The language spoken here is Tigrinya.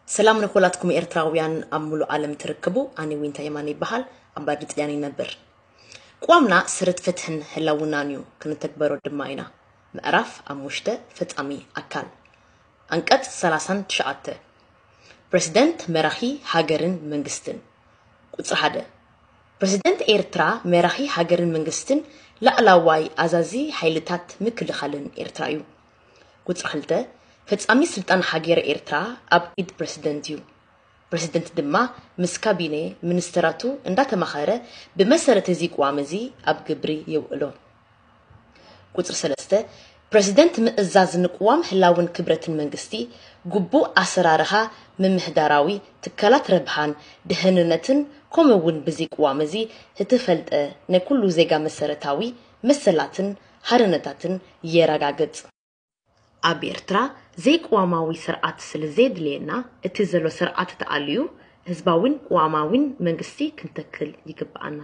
ሰላም ንኩላትኩም ኤርትራውያን ኣብ ሙሉእ ዓለም ትርከቡ። ኣነ ዊንታ የማነ ይበሃል። ኣብ ባድሪ ጥልያን ይነብር። ቅዋምና ስርት ፍትሕን ህላውናን እዩ፣ ክንተግበሮ ድማ ኢና። ምዕራፍ ሓሙሽተ፣ ፈጻሚ ኣካል። ኣንቀጽ ሰላሳን ትሽዓተ፣ ፕረሲደንት መራሒ ሃገርን መንግስትን። ቁጽሪ ሓደ፣ ፕረሲደንት ኤርትራ መራሒ ሃገርን መንግስትን ላዕላዋይ ኣዛዚ ሓይልታት ምክልኻልን ኤርትራ እዩ። ቁጽሪ ክልተ፣ ፈጻሚ ስልጣን ሃገረ ኤርትራ ኣብ ኢድ ፕረሲደንት እዩ። ፕረሲደንት ድማ ምስ ካቢነ ሚኒስተራቱ እንዳተማኸረ ብመሰረት እዚ ቅዋም እዚ ኣብ ግብሪ የውዕሎ። ቁጽሪ ሰለስተ፣ ፕረሲደንት ምእዛዝ ንቅዋም ህላውን ክብረትን መንግስቲ፣ ግቡእ ኣሰራርሃ ምምሕዳራዊ ትካላት ረብሃን ድህንነትን፣ ከምኡ እውን ብዚ ቅዋም እዚ እትፈልጠ ናይ ኩሉ ዜጋ መሰረታዊ መሰላትን ሓርነታትን የረጋግጽ። ኣብ ኤርትራ ዘይቅዋማዊ ስርዓት ስለ ዘየድልየና፣ እቲ ዘሎ ስርዓት ተኣልዩ ህዝባዊን ቅዋማዊን መንግስቲ ክንተክል ይግብኣና።